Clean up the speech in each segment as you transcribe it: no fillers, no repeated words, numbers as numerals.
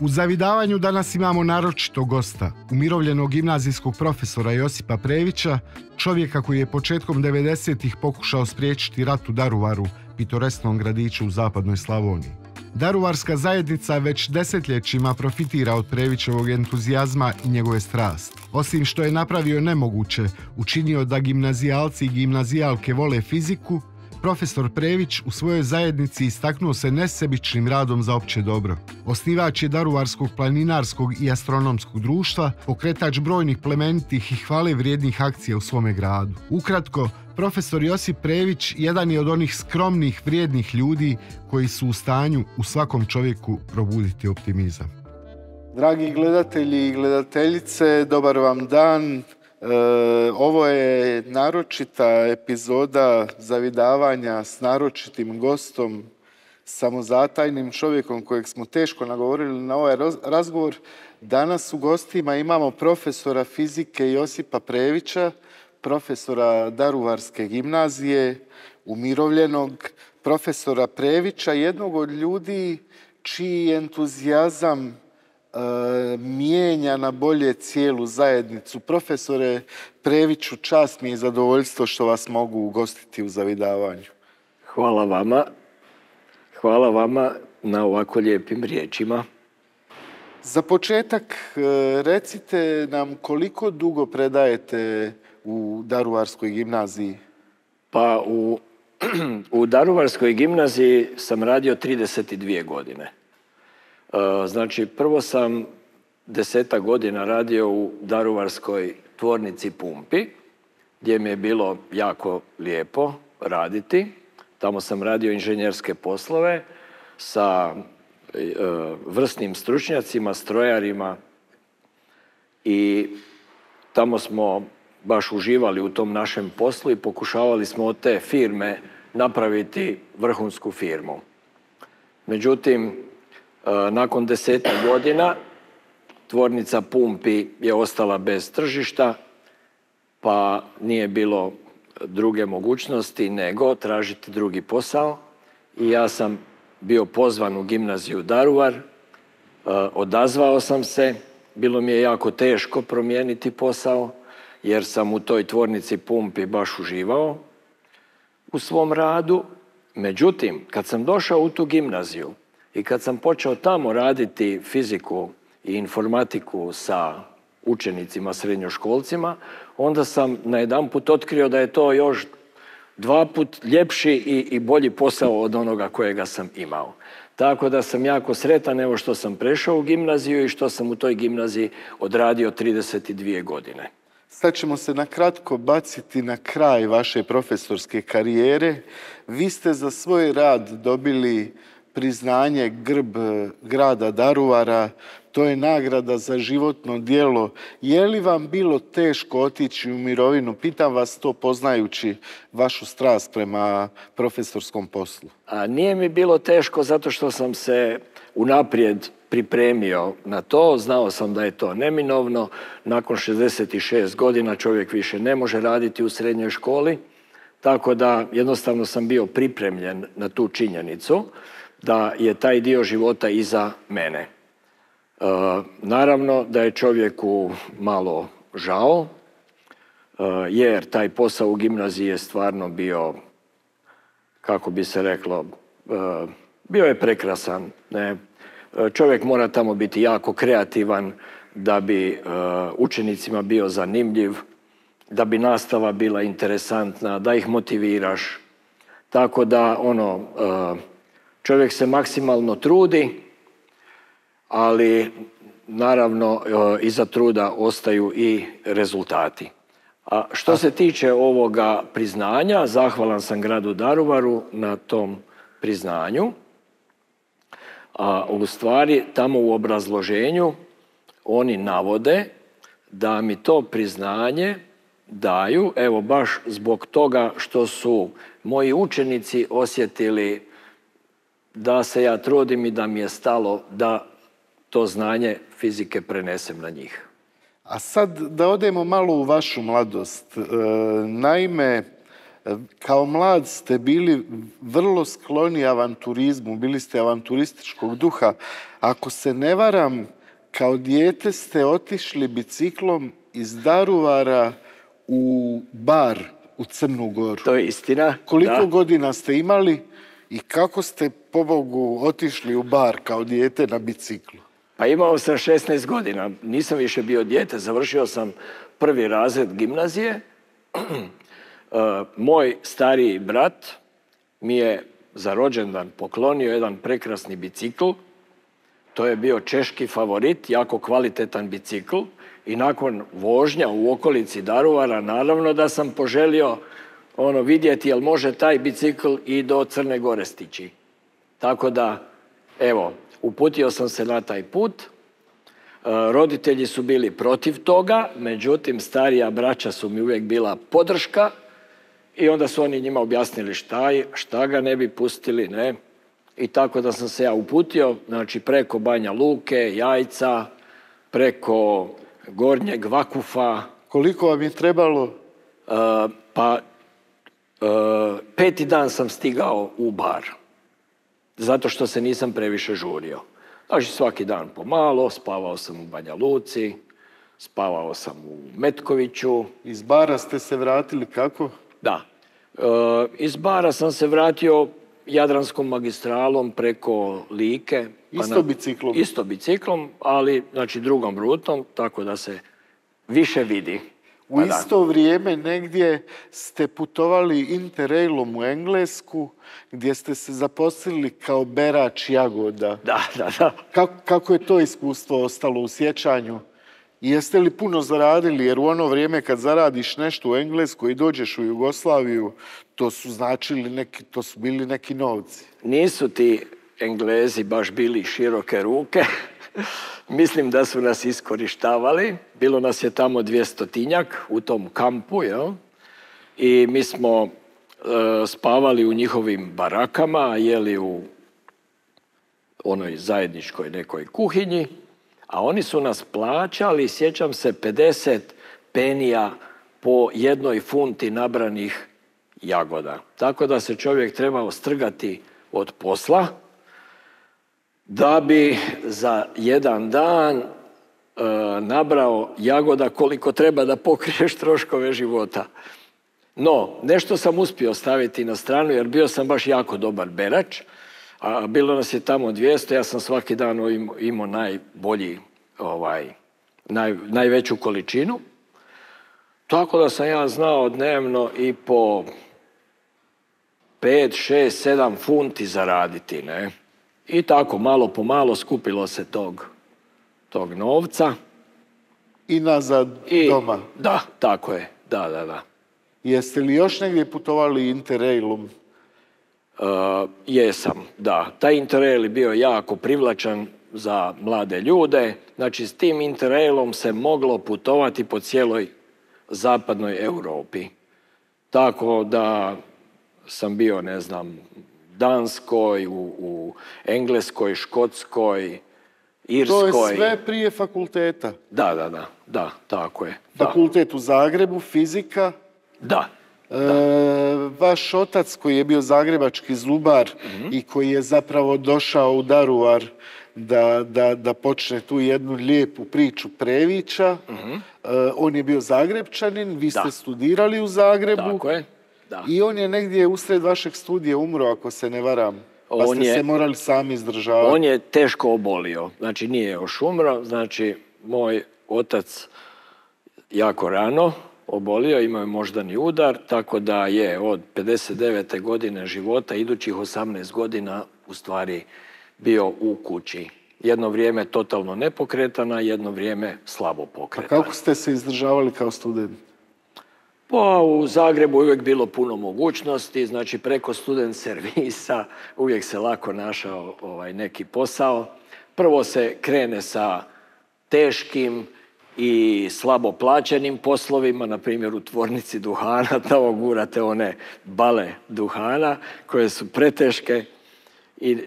U zavidavanju danas imamo naročito gosta, umirovljenog gimnazijskog profesora Josipa Previća, čovjeka koji je početkom 90-ih pokušao spriječiti rat u Daruvaru, pitoresnom gradiću u zapadnoj Slavoniji. Daruvarska zajednica već desetljećima profitira od Previćevog entuzijazma i njegove strasti. Osim što je napravio nemoguće, učinio da gimnazijalci i gimnazijalke vole fiziku, profesor Prević u svojoj zajednici istaknuo se nesebičnim radom za opće dobro. Osnivač je Daruvarskog planinarskog i astronomskog društva, pokretač brojnih plemenitih i hvale vrijednih akcija u svome gradu. Ukratko, profesor Josip Prević jedan je od onih skromnih, vrijednih ljudi koji su u stanju u svakom čovjeku probuditi optimizam. Dragi gledatelji i gledateljice, dobar vam dan. Ovo je naročita epizoda zavidavanja s naročitim gostom, samozatajnim čovjekom kojeg smo teško nagovorili na ovaj razgovor. Danas u gostima imamo profesora fizike Josipa Previća, profesora Daruvarske gimnazije, umirovljenog profesora Previća, jednog od ljudi čiji entuzijazam mijenja na bolje cijelu zajednicu. Profesore Previću, čast mi je i zadovoljstvo što vas mogu ugostiti u zavidavanju. Hvala vama. Hvala vama na ovako lijepim riječima. Za početak recite nam koliko dugo predajete u Daruvarskoj gimnaziji? Pa u Daruvarskoj gimnaziji sam radio 32 godine. Znači, prvo sam 10 godina radio u Daruvarskoj tvornici Pumpi, gdje mi je bilo jako lijepo raditi. Tamo sam radio inženjerske poslove sa vrsnim stručnjacima, strojarima i tamo smo baš uživali u tom našem poslu i pokušavali smo od te firme napraviti vrhunsku firmu. Međutim, nakon 10 godina tvornica Pumpi je ostala bez tržišta, pa nije bilo druge mogućnosti nego tražiti drugi posao. I ja sam bio pozvan u gimnaziju Daruvar, odazvao sam se, bilo mi je jako teško promijeniti posao, jer sam u toj tvornici Pumpi baš uživao u svom radu. Međutim, kad sam došao u tu gimnaziju i kad sam počeo tamo raditi fiziku i informatiku sa učenicima, srednjoškolcima, onda sam najedanput otkrio da je to još 2 puta ljepši i bolji posao od onoga kojega sam imao. Tako da sam jako sretan evo što sam prešao u gimnaziju i što sam u toj gimnaziji odradio 32 godine. Sad ćemo se na kratko baciti na kraj vaše profesorske karijere. Vi ste za svoj rad dobili priznanje grb grada Daruvara, to je nagrada za životno djelo. Je li vam bilo teško otići u mirovinu? Pitam vas to poznajući vašu strast prema profesorskom poslu. Nije mi bilo teško zato što sam se unaprijed pripremio na to. Znao sam da je to neminovno. Nakon 66 godina čovjek više ne može raditi u srednjoj školi. Tako da jednostavno sam bio pripremljen na tu činjenicu da je taj dio života iza mene. Naravno da je čovjeku malo žao, jer taj posao u gimnaziji je stvarno bio, kako bi se reklo, bio je prekrasan. Ne? Čovjek mora tamo biti jako kreativan da bi učenicima bio zanimljiv, da bi nastava bila interesantna, da ih motiviraš. Tako da čovjek se maksimalno trudi, ali naravno iza truda ostaju i rezultati. A što se tiče ovoga priznanja, zahvalan sam gradu Daruvaru na tom priznanju. A u stvari tamo u obrazloženju oni navode da mi to priznanje daju, evo baš zbog toga što su moji učenici osjetili da se ja trudim i da mi je stalo da to znanje fizike prenesem na njih. A sad da odemo malo u vašu mladost. Naime, Kao mlad ste bili vrlo skloni avanturizmu, bili ste avanturističkog duha. Ako se ne varam, kao dijete ste otišli biciklom iz Daruvara u Bar, u Crnu Goru. To je istina. Koliko godina ste imali i kako ste, pobogu, otišli u Bar kao dijete na biciklu? Pa imao sam 16 godina. Nisam više bio dijete. Završio sam 1. razred gimnazije. Moj stariji brat mi je za rođendan poklonio jedan prekrasni bicikl. To je bio češki favorit, jako kvalitetan bicikl. I nakon vožnja u okolici Daruvara, naravno da sam poželio vidjeti jel može taj bicikl i do Crne Gore stići. Tako da, evo, uputio sam se na taj put. Roditelji su bili protiv toga, međutim, starija braća su mi uvijek bila podrška i onda su oni njima objasnili šta ga ne bi pustili, ne. I tako da sam se ja uputio, znači preko Banja Luke, Jajca, preko Gornjeg Vakufa. Koliko vam je trebalo? Pa 5. dan sam stigao u Bar, zato što se nisam previše žurio. Znači svaki dan pomalo, spavao sam u Banja Luci, spavao sam u Metkoviću. Iz Bara ste se vratili kako? Da. Iz Bara sam se vratio Jadranskom magistralom preko Like. Isto biciklom? Isto biciklom, ali znači drugom rutom, tako da se više vidi. U isto vrijeme negdje ste putovali Interrailom u Englesku, gdje ste se zaposlili kao berač jagoda. Da. Kako je to iskustvo ostalo u sjećanju? I jeste li puno zaradili? Jer u ono vrijeme kad zaradiš nešto u Englesku i dođeš u Jugoslaviju, to su bili neki novci. Nisu ti Englezi baš bili široke ruke. Mislim da su nas iskorištavali. Bilo nas je tamo 200-tinjak u tom kampu, jel? I mi smo spavali u njihovim barakama, jeli u onoj zajedničkoj nekoj kuhinji, a oni su nas plaćali, sjećam se, 50 penija po 1 funti nabranih jagoda. Tako da se čovjek trebao strgati od posla, da bi za jedan dan nabrao jagoda koliko treba da pokriješ troškove života. No, nešto sam uspio staviti na stranu jer bio sam baš jako dobar berač, a bilo nas je tamo 200, ja sam svaki dan imao najveću količinu. Tako da sam ja znao dnevno i po 5, 6, 7 funti zaraditi, ne? I tako, malo po malo skupilo se tog novca. I nazad doma? Da, tako je, da. Jeste li još negdje putovali Interrailom? Jesam, da. Taj Interrail je bio jako privlačan za mlade ljude. Znači, s tim Interrailom se moglo putovati po cijeloj zapadnoj Europi. Tako da sam bio, ne znam, Danskoj, u Engleskoj, Škotskoj, Irskoj. To je sve prije fakulteta? Da, tako je. Fakultet u Zagrebu, fizika? Da. Vaš otac koji je bio zagrebački zubar i koji je zapravo došao u Daruvar da počne tu jednu lijepu priču Previća, on je bio Zagrebčanin, vi ste studirali u Zagrebu. Tako je. Da. I on je negdje usred vašeg studija umro, ako se ne varam. Pa ste se morali sami izdržavati. On je teško obolio. Znači, nije još umro. Znači, moj otac jako rano obolio, imao je moždani udar, tako da je od 59. godine života, idućih 18 godina, u stvari bio u kući. Jedno vrijeme totalno nepokretana, jedno vrijeme slabo pokretana. A kako ste se izdržavali kao student? Pa u Zagrebu uvijek bilo puno mogućnosti, znači preko student servisa uvijek se lako našao neki posao. Prvo se krene sa teškim i slabo plaćenim poslovima, na primjer u tvornici duhana, tamo gurate one bale duhana koje su preteške i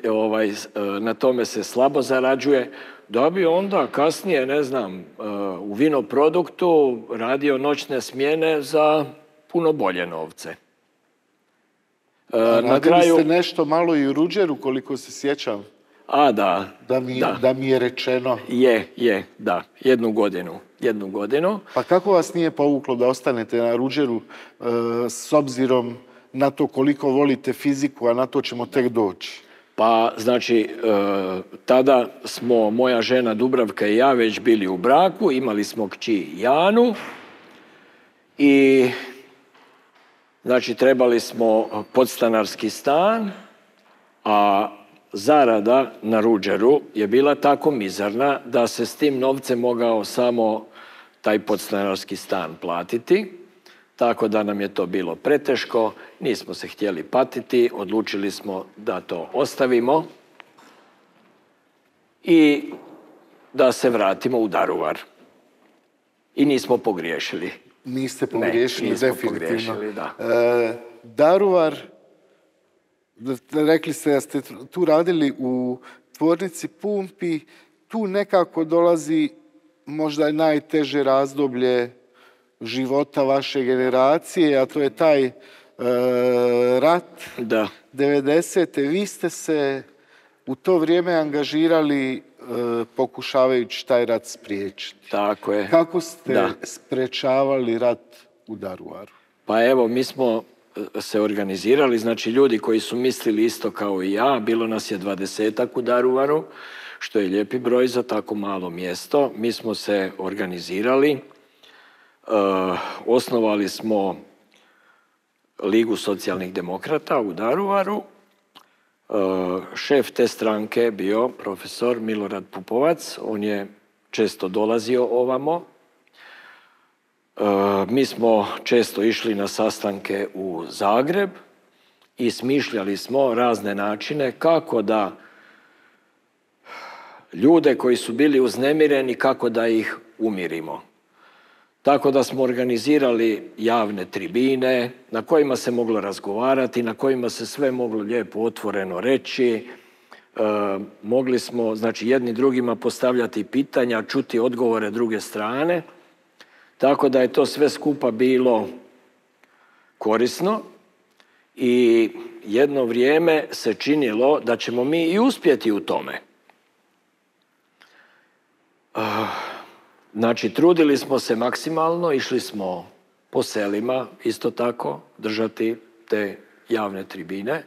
na tome se slabo zarađuje. Da bi onda kasnije, ne znam, u vinoproduktu radio noćne smjene za puno bolje novce. Radili ste nešto malo i u Ruđeru, koliko se sjećam. Da. Da mi je rečeno. Da. Jednu godinu. Pa kako vas nije povuklo da ostanete na Ruđeru s obzirom na to koliko volite fiziku, a na to ćemo tek doći? Pa, znači, tada smo, moja žena Dubravka i ja, već bili u braku, imali smo kći Janu i, znači, trebali smo podstanarski stan, a zarada na Ruđeru je bila tako mizarna da se s tim novcem mogao samo taj podstanarski stan platiti. Tako da nam je to bilo preteško, nismo se htjeli patiti, odlučili smo da to ostavimo i da se vratimo u Daruvar. I nismo pogriješili. Niste pogriješili, nismo definitivno. Pogriješili, da. Daruvar, rekli ste da ste tu radili u tvornici pumpi, tu nekako dolazi možda i najteže razdoblje života vaše generacije, a to je taj rat 90. Vi ste se u to vrijeme angažirali pokušavajući taj rat spriječiti. Tako je. Kako ste sprečavali rat u Daruvaru? Pa evo, mi smo se organizirali, znači ljudi koji su mislili isto kao i ja, bilo nas je 20-ak u Daruvaru, što je lijepi broj za tako malo mjesto. Mi smo se organizirali, osnovali smo Ligu socijalnih demokrata u Daruvaru. Šef te stranke je bio profesor Milorad Pupovac, on je često dolazio ovamo. Mi smo često išli na sastanke u Zagreb i smišljali smo razne načine kako da ljude koji su bili uznemireni, kako da ih umirimo. Tako da smo organizirali javne tribine na kojima se moglo razgovarati, na kojima se sve moglo lijepo otvoreno reći. Mogli smo, znači, jedni drugima postavljati pitanja, čuti odgovore druge strane. Tako da je to sve skupa bilo korisno i jedno vrijeme se činilo da ćemo mi i uspjeti u tome. Znači, trudili smo se maksimalno, išli smo po selima, isto tako, držati te javne tribine.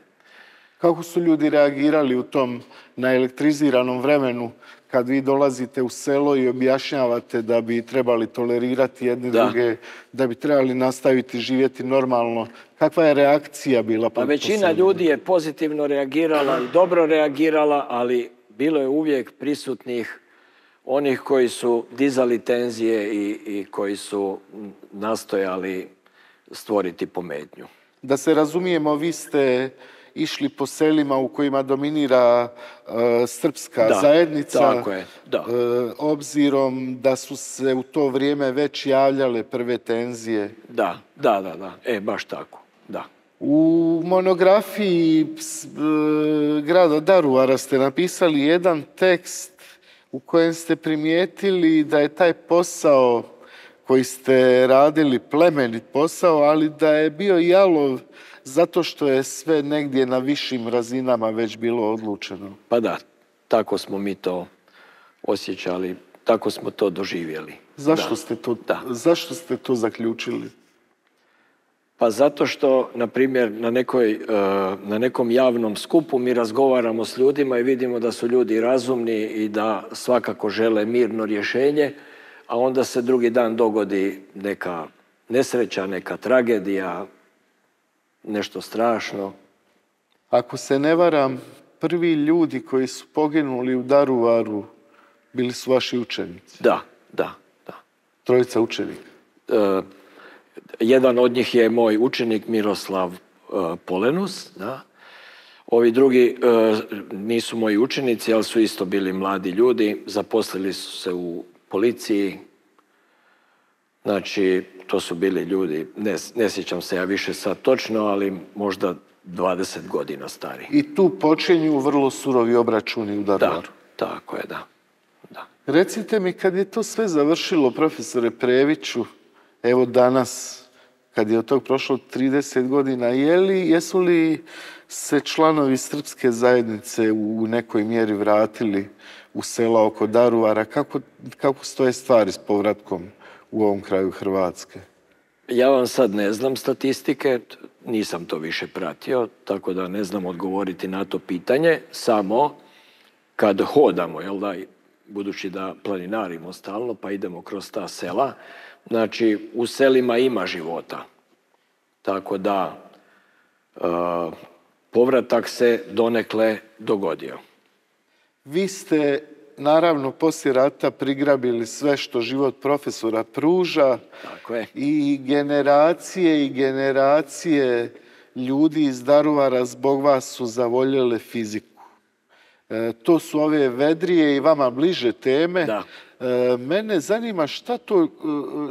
Kako su ljudi reagirali u tom naelektriziranom vremenu kad vi dolazite u selo i objašnjavate da bi trebali tolerirati jedne druge, da bi trebali nastaviti živjeti normalno? Kakva je reakcija bila? Pa većina ljudi je pozitivno reagirala i dobro reagirala, ali bilo je uvijek prisutnih onih koji su dizali tenzije i koji su nastojali stvoriti pometnju. Da se razumijemo, vi ste išli po selima u kojima dominira srpska zajednica. Tako je, obzirom da su se u to vrijeme već javljale prve tenzije. Da. Baš tako, da. U monografiji grada Daruvara ste napisali jedan tekst u kojem ste primijetili da je taj posao koji ste radili plemenit posao, ali da je bio jalov zato što je sve negdje na višim razinama već bilo odlučeno. Pa da, tako smo mi to osjećali, tako smo to doživjeli. Zašto ste to zaključili? Pa zato što, na primjer, na nekom javnom skupu mi razgovaramo s ljudima i vidimo da su ljudi razumni i da svakako žele mirno rješenje, a onda se drugi dan dogodi neka nesreća, neka tragedija, nešto strašno. Ako se ne varam, prvi ljudi koji su poginuli u Daruvaru bili su vaši učenici. Da. Trojica učenika. Jedan od njih je moj učenik Miroslav Polenus. Da. Ovi drugi nisu moji učenici, ali su isto bili mladi ljudi. Zaposlili su se u policiji. Znači, to su bili ljudi, ne sjećam se ja više sad točno, ali možda 20 godina stari. I tu počinju vrlo surovi obračuni u Daruvaru. Da, tako je, da. Recite mi, kad je to sve završilo, profesore Previću, evo danas, kad je od tog prošlo 30 godina. Jesu li se članovi srpske zajednice u nekoj mjeri vratili u sela oko Daruvara? Kako stoje stvari s povratkom u ovom kraju Hrvatske? Ja vam sad ne znam statistike, nisam to više pratio, tako da ne znam odgovoriti na to pitanje. Samo kad hodamo, jel da, budući da planinarimo stalno, pa idemo kroz ta sela, znači u selima ima života. Tako da povratak se donekle dogodio. Vi ste, naravno, poslije rata prigrabili sve što život profesora pruža. Tako je. I generacije ljudi iz Daruvara zbog vas su zavoljele fiziku. To su ove vedrije i vama bliže teme. Da. Mene zanima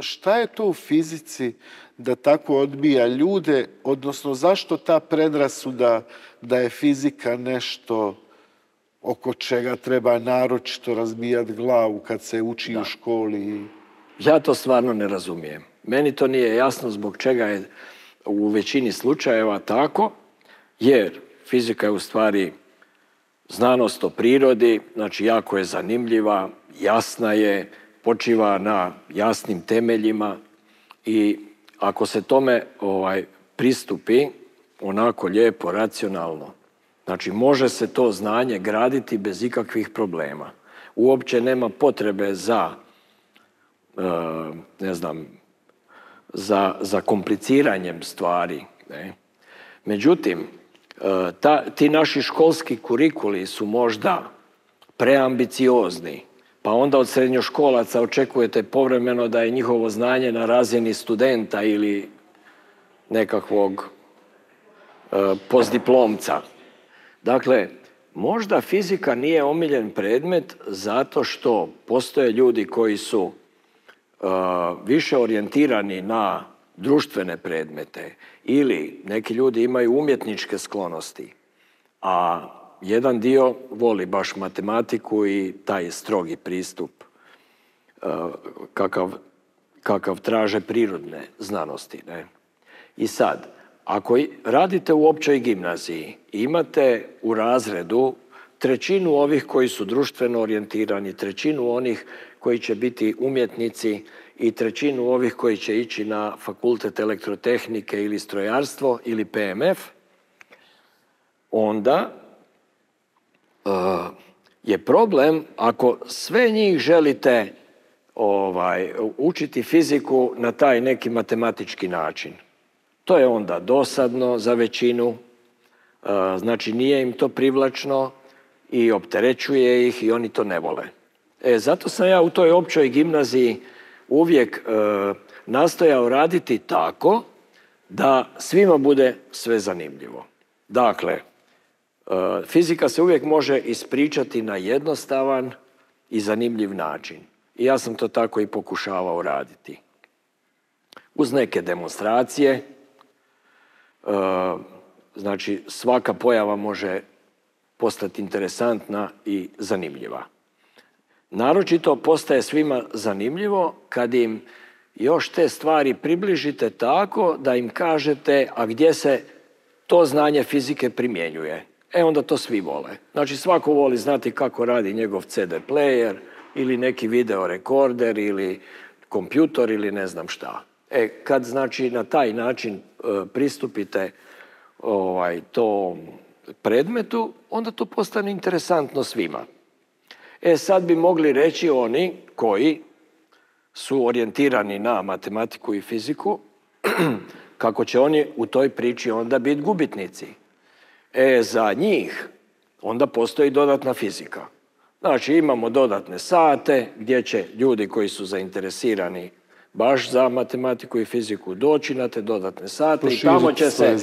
šta je to u fizici da tako odbija ljude, odnosno zašto ta predrasuda da je fizika nešto oko čega treba naročito razbijati glavu kad se uči u školi? Ja to stvarno ne razumijem. Meni to nije jasno zbog čega je u većini slučajeva tako, jer fizika je u stvari znanost o prirodi, znači jako je zanimljiva, jasna je, počiva na jasnim temeljima i ako se tome pristupi onako lijepo, racionalno, znači može se to znanje graditi bez ikakvih problema. Uopće nema potrebe za, za kompliciranjem stvari. Ne? Međutim, ti naši školski kurikuli su možda preambiciozni, pa onda od srednjoškolaca očekujete povremeno da je njihovo znanje na razini studenta ili nekakvog postdiplomca. Dakle, možda fizika nije omiljen predmet zato što postoje ljudi koji su više orijentirani na društvene predmete ili neki ljudi imaju umjetničke sklonosti, a jedan dio voli baš matematiku i taj strogi pristup kakav traže prirodne znanosti. Ne? I sad, ako radite u općoj gimnaziji, imate u razredu trećinu ovih koji su društveno orijentirani, trećinu onih koji će biti umjetnici i trećinu ovih koji će ići na fakultet elektrotehnike ili strojarstvo ili PMF, onda je problem ako sve njih želite učiti fiziku na taj neki matematički način. To je onda dosadno za većinu, znači nije im to privlačno i opterećuje ih i oni to ne vole. Zato sam ja u toj općoj gimnaziji uvijek nastojao raditi tako da svima bude sve zanimljivo. Dakle, fizika se uvijek može ispričati na jednostavan i zanimljiv način. I ja sam to tako i pokušavao raditi. Uz neke demonstracije, znači svaka pojava može postati interesantna i zanimljiva. Naročito postaje svima zanimljivo kad im još te stvari približite tako da im kažete a gdje se to znanje fizike primjenjuje. Onda to svi vole. Znači svako voli znati kako radi njegov CD player ili neki video rekorder ili kompjutor ili ne znam šta. Kad znači na taj način pristupite tom predmetu, onda to postane interesantno svima. Sad bi mogli reći oni koji su orijentirani na matematiku i fiziku, kako će oni u toj priči onda biti gubitnici. Za njih onda postoji dodatna fizika. Znači imamo dodatne sate gdje će ljudi koji su zainteresirani baš za matematiku i fiziku doći na te dodatne sate i tamo će se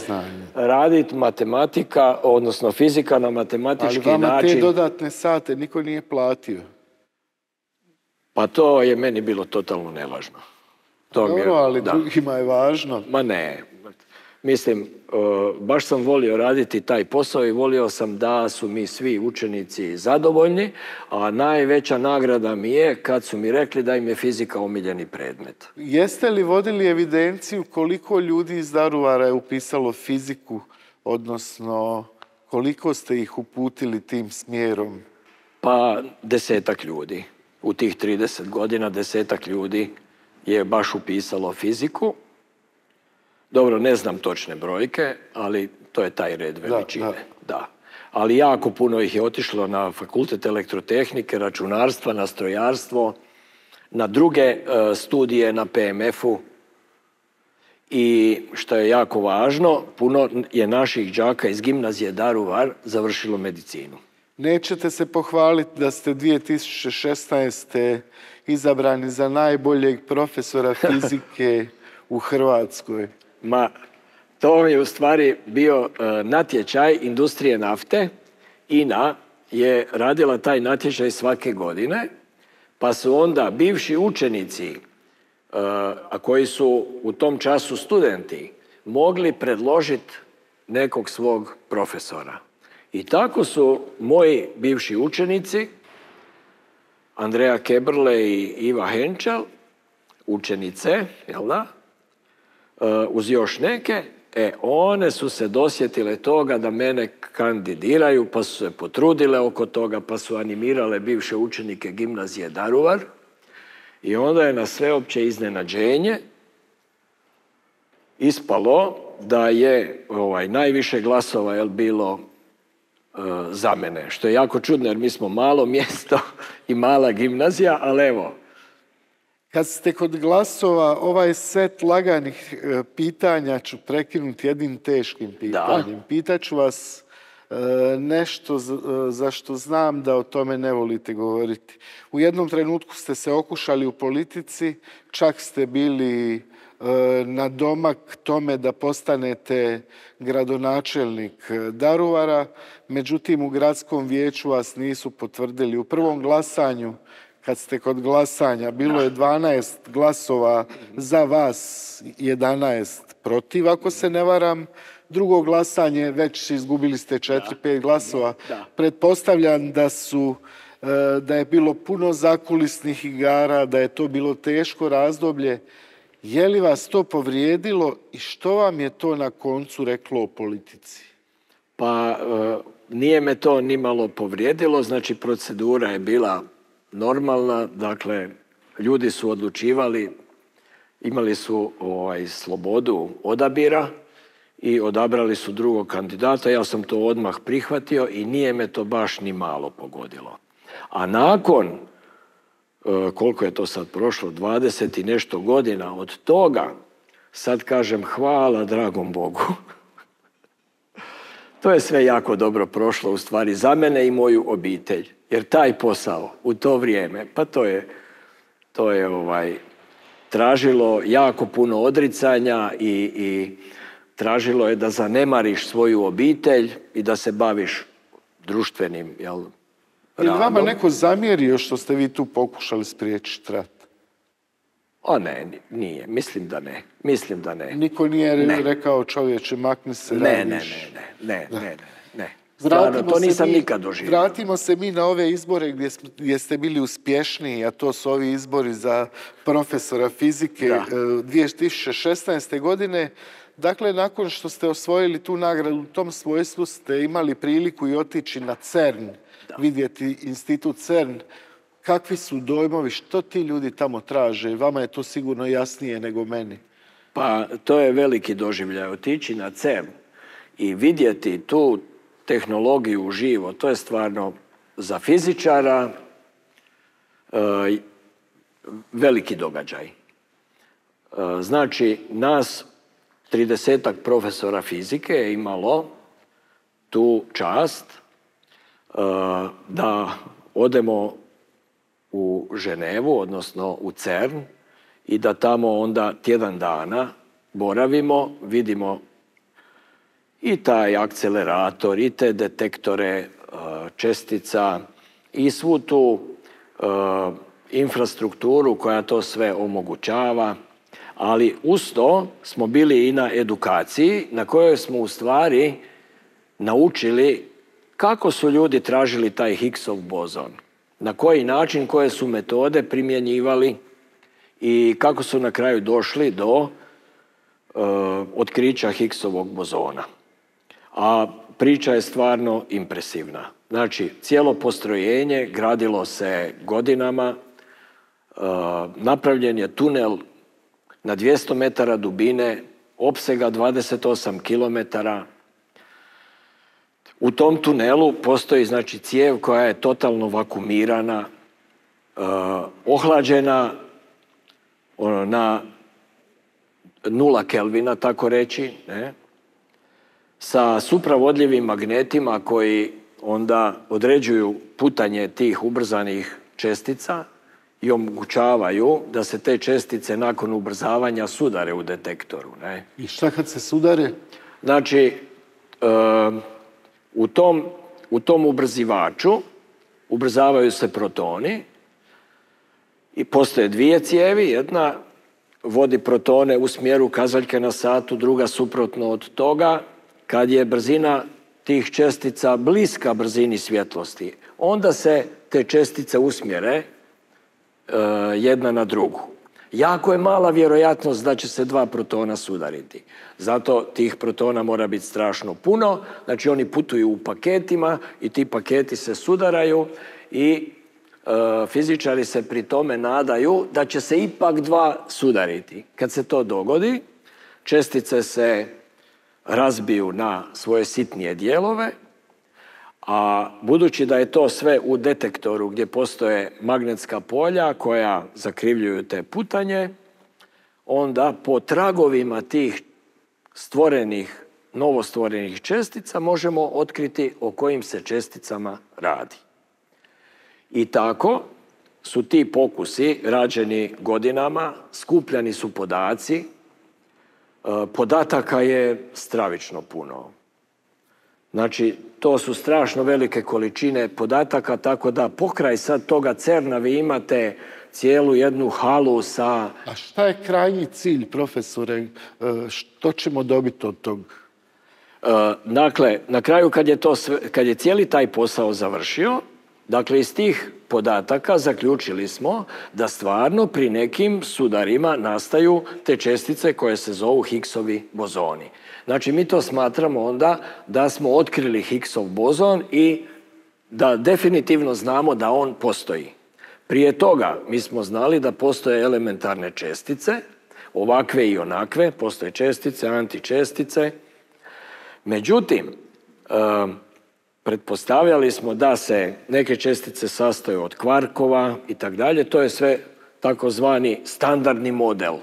raditi matematika, odnosno fizika na matematički način. Ali vama te dodatne sate niko nije platio. Pa to je meni bilo totalno nevažno. Dobro, ali drugima je važno. Ma ne. Mislim, baš sam volio raditi taj posao i volio sam da su mi svi učenici zadovoljni, a najveća nagrada mi je kad su mi rekli da im je fizika omiljeni predmet. Jeste li vodili evidenciju koliko ljudi iz Daruvara je upisalo fiziku, odnosno koliko ste ih uputili tim smjerom? Pa 10-ak ljudi. U tih 30 godina 10-ak ljudi je baš upisalo fiziku. Dobro, ne znam točne brojke, ali to je taj red veličine. Da. Ali jako puno ih je otišlo na fakultet elektrotehnike, računarstva, na strojarstvo, na druge studije na PMF-u. I što je jako važno, puno je naših đaka iz gimnazije Daruvar završilo medicinu. Nećete se pohvaliti da ste 2016. izabrani za najboljeg profesora fizike u Hrvatskoj? Ma, to je u stvari bio natječaj industrije nafte. INA je radila taj natječaj svake godine, pa su onda bivši učenici, a koji su u tom času studenti, mogli predložiti nekog svog profesora. I tako su moji bivši učenici, Andreja Kebrle i Iva Henčel, učenice, jel da, uz još neke, one su se dosjetile toga da mene kandidiraju, pa su se potrudile oko toga, pa su animirale bivše učenike gimnazije Daruvar. I onda je na sveopće iznenađenje ispalo da je najviše glasova bilo za mene. Što je jako čudno jer mi smo malo mjesto i mala gimnazija, ali evo. Kad ste kod glasova, ovaj set laganih pitanja ću prekinuti jednim teškim pitanjem. Da. Pitaću vas nešto za što znam da o tome ne volite govoriti. U jednom trenutku ste se okušali u politici, čak ste bili na domak tome da postanete gradonačelnik Daruvara, međutim u gradskom vijeću vas nisu potvrdili. U prvom glasanju, kad ste kod glasanja, bilo je 12 glasova za vas, 11 protiv, ako se ne varam. Drugo glasanje, već izgubili ste 4-5 glasova. Pretpostavljam da je bilo puno zakulisnih igara, da je to bilo teško razdoblje. Je li vas to povrijedilo i što vam je to na koncu reklo o politici? Pa nije me to ni malo povrijedilo, znači procedura je bila normalna, dakle ljudi su odlučivali, imali su slobodu odabira i odabrali su drugog kandidata. Ja sam to odmah prihvatio i nije me to baš ni malo pogodilo. A nakon, koliko je to sad prošlo, 20 i nešto godina od toga, sad kažem hvala dragom Bogu. To je sve jako dobro prošlo u stvari za mene i moju obitelj. Jer taj posao u to vrijeme, pa to je tražilo jako puno odricanja i tražilo je da zanemariš svoju obitelj i da se baviš društvenim radom. Je li vama neko zamjerio što ste vi tu pokušali spriječiti rat? O ne, nije. Mislim da ne. Niko nije rekao čovječe, makni se, radiš? Ne. Stvarno, to nisam nikad doživio. Vratimo se mi na ove izbore gdje ste bili uspješniji, a to su ovi izbori za profesora fizike 2016. godine. Dakle, nakon što ste osvojili tu nagradu, u tom svojstvu ste imali priliku i otići na CERN, vidjeti institut CERN. Kakvi su dojmovi, što ti ljudi tamo traže? Vama je to sigurno jasnije nego meni. Pa, to je veliki doživljaj. Otići na CERN i vidjeti tu tehnologiju uživo, to je stvarno za fizičara veliki događaj. Znači, nas 30-ak profesora fizike je imalo tu čast da odemo u Ženevu, odnosno u CERN, i da tamo onda tjedan dana boravimo, vidimo i taj akcelerator, i te detektore čestica, i svu tu infrastrukturu koja to sve omogućava. Ali uz to smo bili i na edukaciji na kojoj smo u stvari naučili kako su ljudi tražili taj Higgsov bozon, na koji način, koje su metode primjenjivali i kako su na kraju došli do otkrića Higgsovog bozona. A priča je stvarno impresivna. Znači, cijelo postrojenje gradilo se godinama, napravljen je tunel na 200 metara dubine, opsega 28 kilometara. U tom tunelu postoji, znači, cijev koja je totalno vakumirana, ohlađena na 0 kelvina, tako reći, ne? Sa supravodljivim magnetima koji onda određuju putanje tih ubrzanih čestica i omogućavaju da se te čestice nakon ubrzavanja sudare u detektoru. Ne? I šta kad se sudare? Znači, u tom ubrzivaču ubrzavaju se protoni i postoje dvije cijevi. Jedna vodi protone u smjeru kazaljke na satu, druga suprotno od toga. Kad je brzina tih čestica bliska brzini svjetlosti, onda se te čestice usmjere jedna na drugu. Jako je mala vjerojatnost da će se dva protona sudariti. Zato tih protona mora biti strašno puno. Znači, oni putuju u paketima i ti paketi se sudaraju i fizičari se pri tome nadaju da će se ipak dva sudariti. Kad se to dogodi, čestice se razbiju na svoje sitnije dijelove, a budući da je to sve u detektoru gdje postoje magnetska polja koja zakrivljuju te putanje, onda po tragovima tih novostvorenih čestica možemo otkriti o kojim se česticama radi. I tako su ti pokusi rađeni godinama, skupljani su podaci, podataka je stravično puno. Znači, to su strašno velike količine podataka, tako da pokraj sad toga CERN-a vi imate cijelu jednu halu sa... A šta je krajnji cilj, profesore? Što ćemo dobiti od tog? Dakle, na kraju kad je cijeli taj posao završio, dakle, iz tih podataka zaključili smo da stvarno pri nekim sudarima nastaju te čestice koje se zovu Higgsovi bozoni. Znači, mi to smatramo onda da smo otkrili Higgsov bozon i da definitivno znamo da on postoji. Prije toga mi smo znali da postoje elementarne čestice, ovakve i onakve, postoje čestice, antičestice. Međutim, pretpostavljali smo da se neke čestice sastoje od kvarkova i tako dalje. To je sve takozvani standardni model.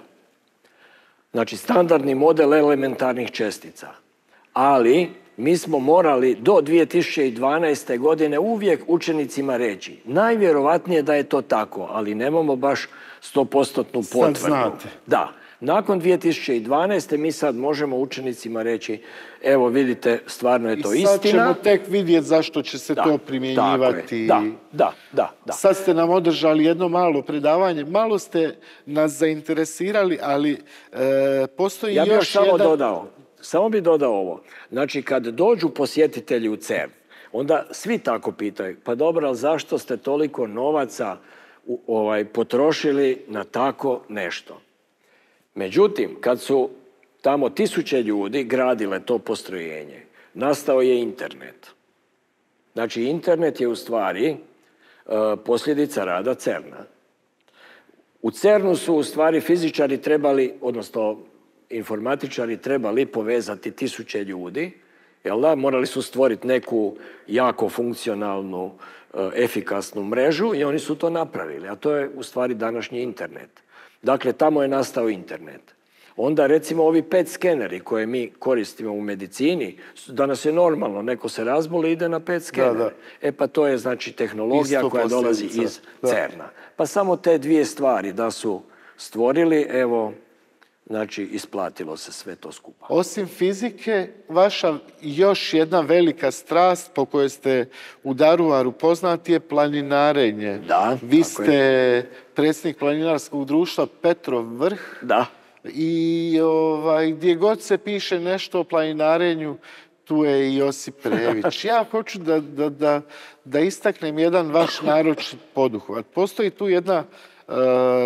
Znači, standardni model elementarnih čestica. Ali mi smo morali do 2012. godine uvijek učenicima reći najvjerovatnije da je to tako, ali nemamo baš 100% potvrdu. Sad znate. Da. Nakon 2012. mi sad možemo učenicima reći evo vidite, stvarno je to istina. I sad ćemo tek vidjeti zašto će se to primjenjivati. Da. Sad ste nam održali jedno malo predavanje. Malo ste nas zainteresirali, ali postoji još jedan... Ja bih samo bi dodao ovo. Znači, kad dođu posjetitelji u CERN, onda svi tako pitaju, pa dobro, ali zašto ste toliko novaca potrošili na tako nešto? Međutim, kad su tamo 1000 ljudi gradile to postrojenje, nastao je internet. Znači, internet je u stvari posljedica rada CERN-a. U CERN-u su u stvari fizičari trebali, odnosno informatičari trebali povezati 1000 ljudi, jel da? Morali su stvoriti neku jako funkcionalnu, efikasnu mrežu i oni su to napravili, a to je u stvari današnji internet. Dakle, tamo je nastao internet. Onda, recimo, ovi PET skeneri koje mi koristimo u medicini, danas je normalno, neko se razboli i ide na PET skener. Pa to je, znači, tehnologija koja dolazi iz CERN-a. Pa samo te dvije stvari da su stvorili, evo, znači, isplatilo se sve to skupa. Osim fizike, vaša još jedna velika strast po kojoj ste u Daruvaru poznati je planinarenje. Da, Vi ste predsjednik planinarskog društva Petrov vrh. Da. I gdje god se piše nešto o planinarenju, tu je i Josip Prević. Ja hoću da istaknem jedan vaš naročit poduhvat. Postoji tu jedna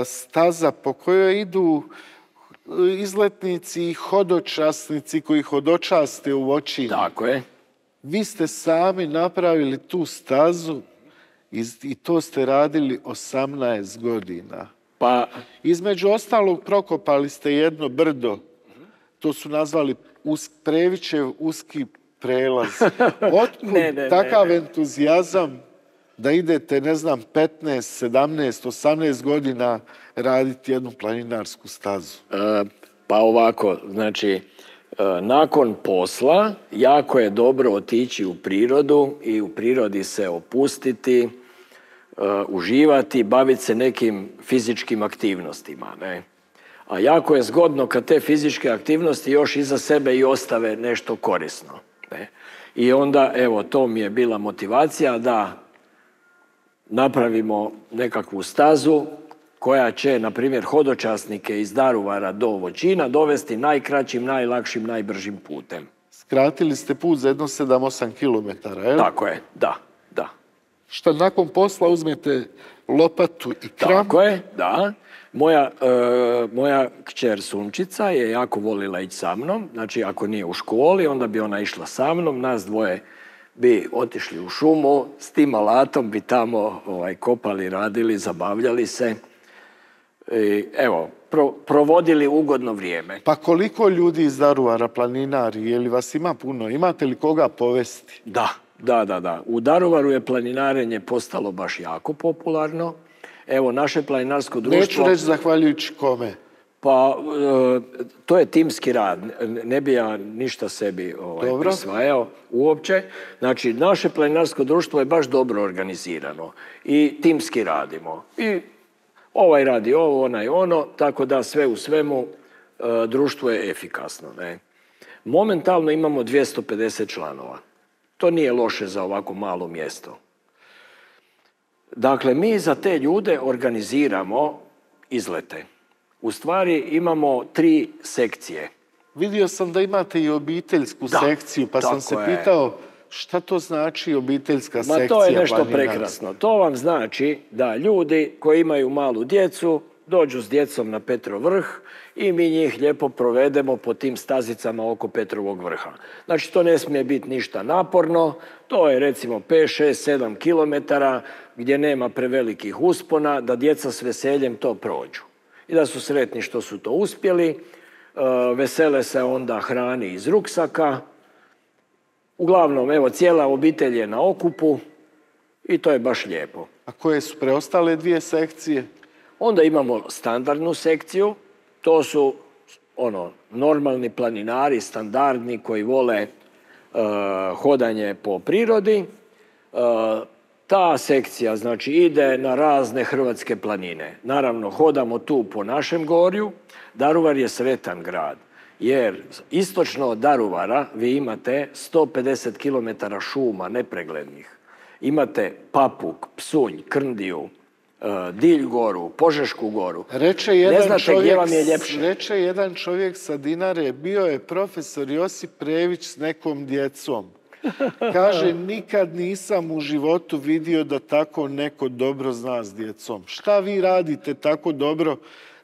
staza po kojoj idu izletnici i hodočasnici koji hodočaste u Voćinu. Tako je. Vi ste sami napravili tu stazu i to ste radili 18 godina. Pa, između ostalog prokopali ste jedno brdo. To su nazvali Previćev uski prelaz. Otkud takav entuzijazam da idete, ne znam, 15, 17, 18 godina raditi jednu planinarsku stazu? Pa ovako, znači, nakon posla jako je dobro otići u prirodu i u prirodi se opustiti, uživati, baviti se nekim fizičkim aktivnostima, ne? A jako je zgodno kad te fizičke aktivnosti još iza sebe i ostave nešto korisno, ne? I onda, evo, to mi je bila motivacija da napravimo nekakvu stazu koja će, na primjer, hodočasnike iz Daruvara do Voćina dovesti najkraćim, najlakšim, najbržim putem. Skratili ste put za jedno 7-8 kilometara, jel? Tako je, da. Šta nakon posla uzmete lopatu i kram? Tako je, da. Moja kćer Sunčica je jako volila ići sa mnom. Znači, ako nije u školi, onda bi ona išla sa mnom. Nas dvoje bi otišli u šumu, s tim alatom bi tamo kopali, radili, zabavljali se. I, evo, provodili ugodno vrijeme. Pa koliko ljudi iz Daruvara planinari? Je li vas ima puno? Imate li koga povesti? Da. U Daruvaru je planinarenje postalo baš jako popularno. Evo, naše planinarsko društvo... Neću reći zahvaljujući kome. Pa, to je timski rad. Ne bi ja ništa sebi prisvajao uopće. Znači, naše planinarsko društvo je baš dobro organizirano. I timski radimo. I ovaj radi ovo, onaj ono, tako da sve u svemu društvo je efikasno, ne? Momentalno imamo 250 članova. To nije loše za ovako malo mjesto. Dakle, mi za te ljude organiziramo izlete. U stvari imamo 3 sekcije. Vidio sam da imate i obiteljsku sekciju, pa sam se pitao šta to znači obiteljska sekcija planinarska. Ma to je nešto planinarska. prekrasno. To vam znači da ljudi koji imaju malu djecu dođu s djecom na Petrov vrh i mi njih lijepo provedemo po tim stazicama oko Petrovog vrha. Znači, to ne smije biti ništa naporno, to je recimo 5, 6, 7 kilometara gdje nema prevelikih uspona, da djeca s veseljem to prođu. I da su sretni što su to uspjeli, vesele se onda hrani iz ruksaka. Uglavnom, evo, cijela obitelj je na okupu i to je baš lijepo. A koje su preostale 2 sekcije? Onda imamo standardnu sekciju, to su normalni planinari, standardni koji vole hodanje po prirodi. Ta sekcija, znači, ide na razne hrvatske planine. Naravno, hodamo tu po našem gorju. Daruvar je sretan grad, jer istočno od Daruvara vi imate 150 km šuma nepreglednih. Imate Papuk, Psunj, Krndiju, Dilj goru, Požešku goru. Reče jedan čovjek sa Dinare, bio je profesor Josip Prević s nekom djecom. Kaže, nikad nisam u životu vidio da tako neko dobro zna s djecom. Šta vi radite tako dobro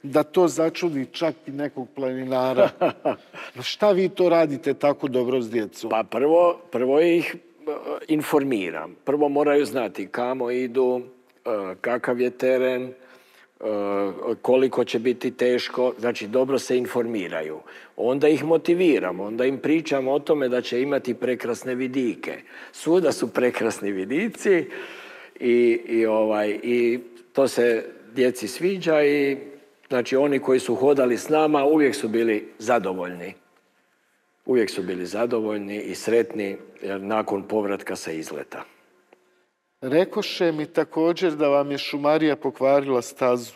da to začudi čak i nekog planinara? Šta vi to radite tako dobro s djecom? Pa prvo ih informiram. Prvo moraju znati kamo idu, kakav je teren, koliko će biti teško, znači dobro se informiraju. Onda ih motiviramo, onda im pričamo o tome da će imati prekrasne vidike. Svuda su prekrasni vidici i to se djeci sviđa i znači oni koji su hodali s nama uvijek su bili zadovoljni. Uvijek su bili zadovoljni i sretni nakon povratka sa izleta. Rekoše mi također da vam je šumarija pokvarila stazu.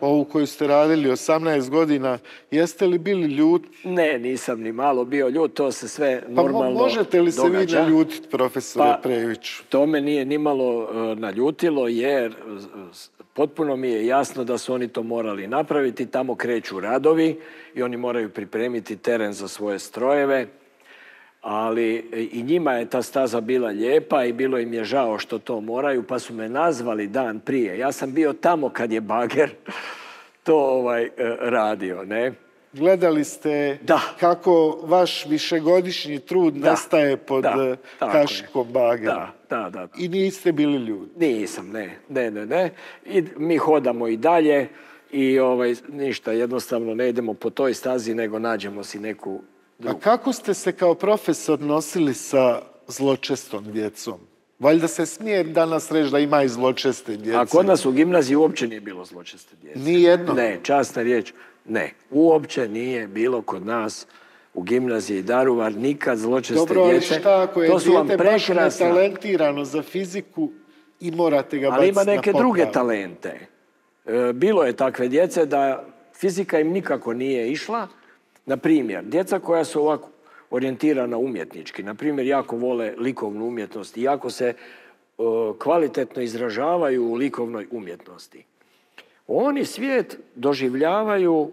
ovu koju ste radili 18 godina, jeste li bili ljuti? Ne, nisam ni malo bio ljut, to se sve normalno događa. Možete li se vi naljutiti, profesore Previću? To me nije nimalo naljutilo, jer potpuno mi je jasno da su oni to morali napraviti. Tamo kreću radovi i oni moraju pripremiti teren za svoje strojeve. Ali i njima je ta staza bila lijepa i bilo im je žao što to moraju, pa su me nazvali dan prije. Ja sam bio tamo kad je bager to radio, ne? Gledali ste kako vaš višegodišnji trud nastaje pod kašikom bagera. Da. I niste bili ljudi? Nisam, ne. I mi hodamo i dalje i ništa, jednostavno ne idemo po toj stazi, nego nađemo si neku drugu. A kako ste se kao profesor nosili sa zločestom djecom? Valjda se smije danas reći da ima i zločeste djece. A kod nas u gimnaziji uopće nije bilo zločeste djece. Nijedno? Ne, časna riječ, ne. Uopće nije bilo kod nas u gimnaziji Daruvar nikad zločeste djece. Dobro, ali šta ako je dijete baš netalentirano za fiziku i morate ga baciti na ali ima neke popravu? druge talente. Bilo je takve djece da fizika im nikako nije išla. Na primjer, djeca koja su ovako orijentirana umjetnički, na primjer, jako vole likovnu umjetnost i jako se kvalitetno izražavaju u likovnoj umjetnosti. Oni svijet doživljavaju,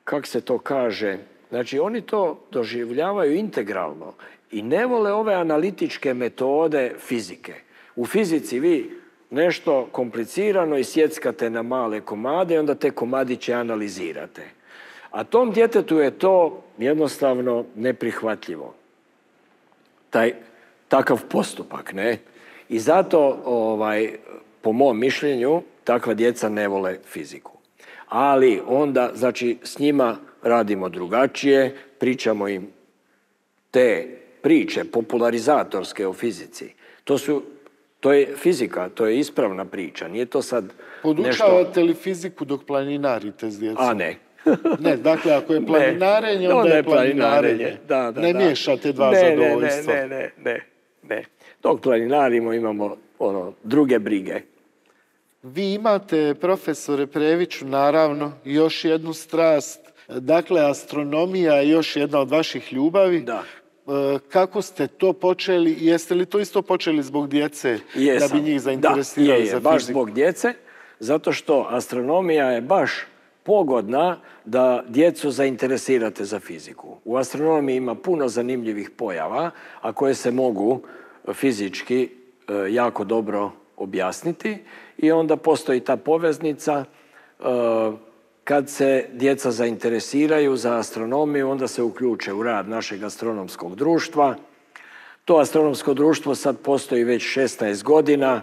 kako se to kaže, znači oni to doživljavaju integralno i ne vole ove analitičke metode fizike. U fizici vi nešto komplicirano isjeckate na male komade i onda te komadiće analizirate. A tom djetetu je to jednostavno neprihvatljivo. Takav postupak, ne? I zato, po mom mišljenju, takva djeca ne vole fiziku. Ali onda, znači, s njima radimo drugačije, pričamo im te priče popularizatorske o fizici. To je fizika, to je ispravna priča, nije to sad nešto... Podučavate li fiziku dok planinarite s djecom? A ne. Ne, dakle, ako je planinarenje, onda je planinarenje. Ne miješate dva zadovoljstva. Ne. Dok planinarimo imamo druge brige. Vi imate, profesore Previću, naravno, još jednu strast. Dakle, astronomija je još jedna od vaših ljubavi. Da. Kako ste to počeli? Jeste li to isto počeli zbog djece? Jesam. Da bi njih zainteresirali za fiziku? Baš zbog djece, zato što astronomija je baš pogodna da djecu zainteresirate za fiziku. U astronomiji ima puno zanimljivih pojava, a koje se mogu fizički jako dobro objasniti i onda postoji ta poveznica. Kad se djeca zainteresiraju za astronomiju, onda se uključe u rad našeg astronomskog društva. To astronomsko društvo sad postoji već 16 godina.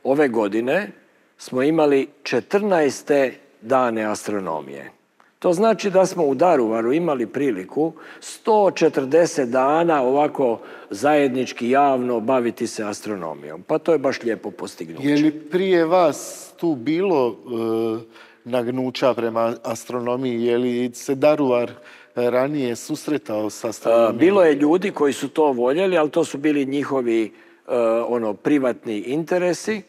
Ove godine smo imali 14. dane astronomije. To znači da smo u Daruvaru imali priliku 140 dana ovako zajednički javno baviti se astronomijom. Pa to je baš lijepo postignuće. Je li prije vas tu bilo nagnuća prema astronomiji? Je li se Daruvar ranije susretao sa astronomijom? Bilo je ljudi koji su to voljeli, ali to su bili njihovi privatni interesi.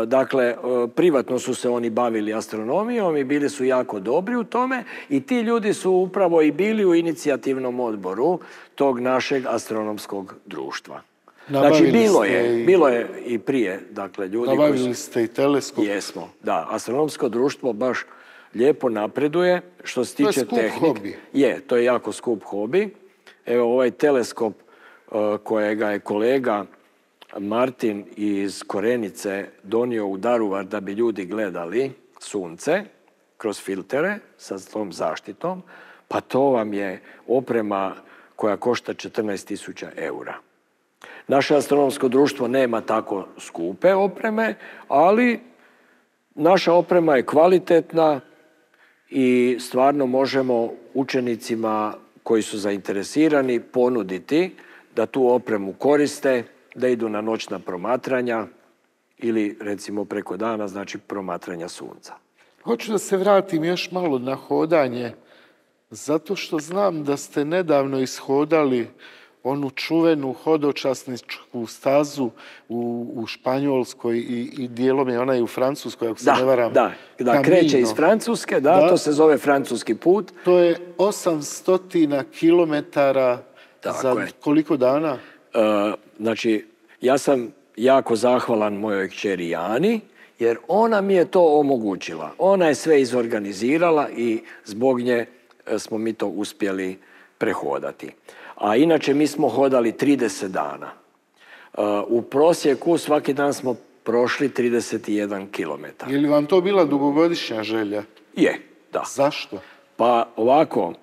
Dakle, privatno su se oni bavili astronomijom i bili su jako dobri u tome i ti ljudi su upravo i bili u inicijativnom odboru tog našeg astronomskog društva. Znači, bilo je i prije, dakle, ljudi koji su... Nabavili ste i teleskop. Jesmo, da. Astronomsko društvo baš lijepo napreduje što se tiče tehnike. To je skup hobi. Je, to je jako skup hobi. Evo, ovaj teleskop kojega je kolega Martin iz Korenice donio u Daruvar da bi ljudi gledali sunce kroz filtere sa tom zaštitom, pa to vam je oprema koja košta 14.000 eura. Naše astronomsko društvo nema tako skupe opreme, ali naša oprema je kvalitetna i stvarno možemo učenicima koji su zainteresirani ponuditi da tu opremu koriste, da idu na noćna promatranja ili recimo preko dana, znači promatranja sunca. Hoću da se vratim još malo na hodanje, zato što znam da ste nedavno ishodali onu čuvenu hodočasničku stazu u Španjolskoj i dijelom je ona i u Francuskoj, ako se ne varam. Da, kreće iz Francuske, to se zove francuski put. To je 800 kilometara za koliko dana? Znači, ja sam jako zahvalan mojoj kćeri Jani, jer ona mi je to omogućila. Ona je sve izorganizirala i zbog nje smo mi to uspjeli prehodati. A inače mi smo hodali 30 dana. U prosjeku svaki dan smo prošli 31 kilometar. Je li vam to bila dugogodišnja želja? Je, da. Zašto? Pa ovako,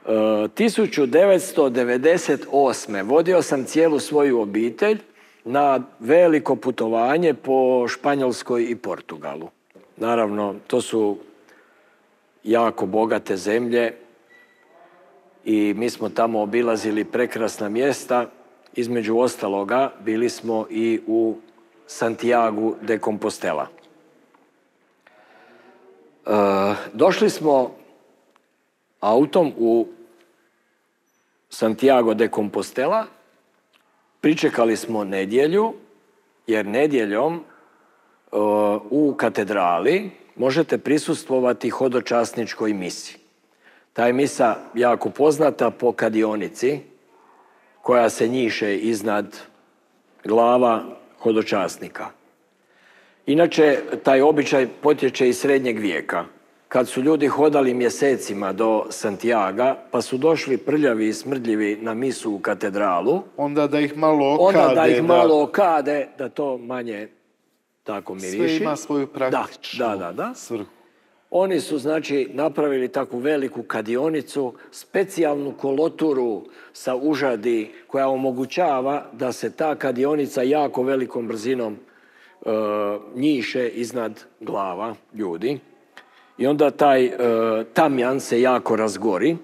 1998. vodio sam cijelu svoju obitelj na veliko putovanje po Španjolskoj i Portugalu. Naravno, to su jako bogate zemlje i mi smo tamo obilazili prekrasna mjesta. Između ostaloga bili smo i u Santiagu de Compostela. Došli smo autom u Santiago de Compostela, pričekali smo nedjelju, jer nedjeljom u katedrali možete prisustvovati hodočasničkoj misi. Ta je misa jako poznata po kadionici koja se njiše iznad glava hodočasnika. Inače, taj običaj potječe iz srednjeg vijeka. Kad su ljudi hodali mjesecima do Santiaga, pa su došli prljavi i smrdljivi na misu u katedralu, onda da ih malo okade, da to manje tako miriši. Sve ima svoju praktičnu svrhu. Oni su, znači, napravili takvu veliku kadionicu, specijalnu koloturu sa užadi koja omogućava da se ta kadionica jako velikom brzinom njiše iznad glava ljudi. I onda taj tamjan se jako razgori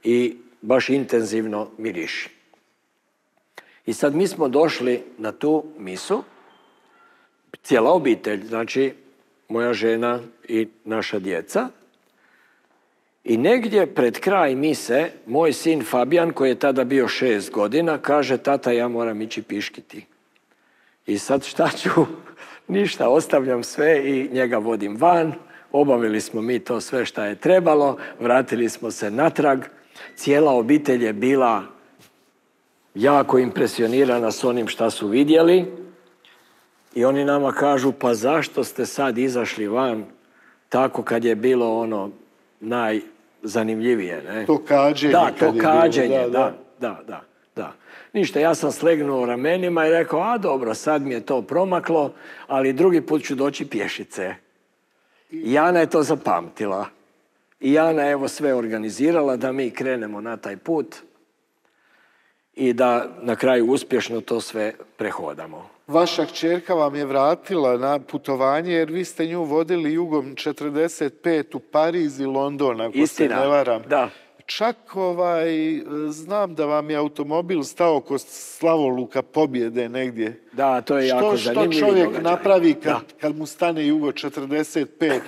i baš intenzivno miriši. I sad mi smo došli na tu misu, cijela obitelj, znači moja žena i naša djeca. I negdje pred kraj mise, moj sin Fabijan, koji je tada bio 6 godina, kaže: tata, ja moram ići piškiti. I sad šta ću? Ništa, ostavljam sve i njega vodim van. Obavili smo mi to sve šta je trebalo, vratili smo se natrag. Cijela obitelj je bila jako impresionirana s onim šta su vidjeli. I oni nama kažu: pa zašto ste sad izašli van tako kad je bilo ono najzanimljivije, ne? To kađenje. Da, to kađenje, da. Ništa, ja sam slegnuo ramenima i rekao: a dobro, sad mi je to promaklo, ali drugi put ću doći pješice. I Jana je to zapamtila. I Jana evo sve organizirala da mi krenemo na taj put i da na kraju uspješno to sve prehodamo. Vaša kćerka vam je vratila na putovanje jer vi ste nju vodili jugom 45 u Pariz i London, ako se ne varam. Da. Čak znam da vam je automobil stao kod Slavoluka Pobjede negdje. Da, to je jako zanimljivo. Što čovjek napravi kad mu stane jugo 45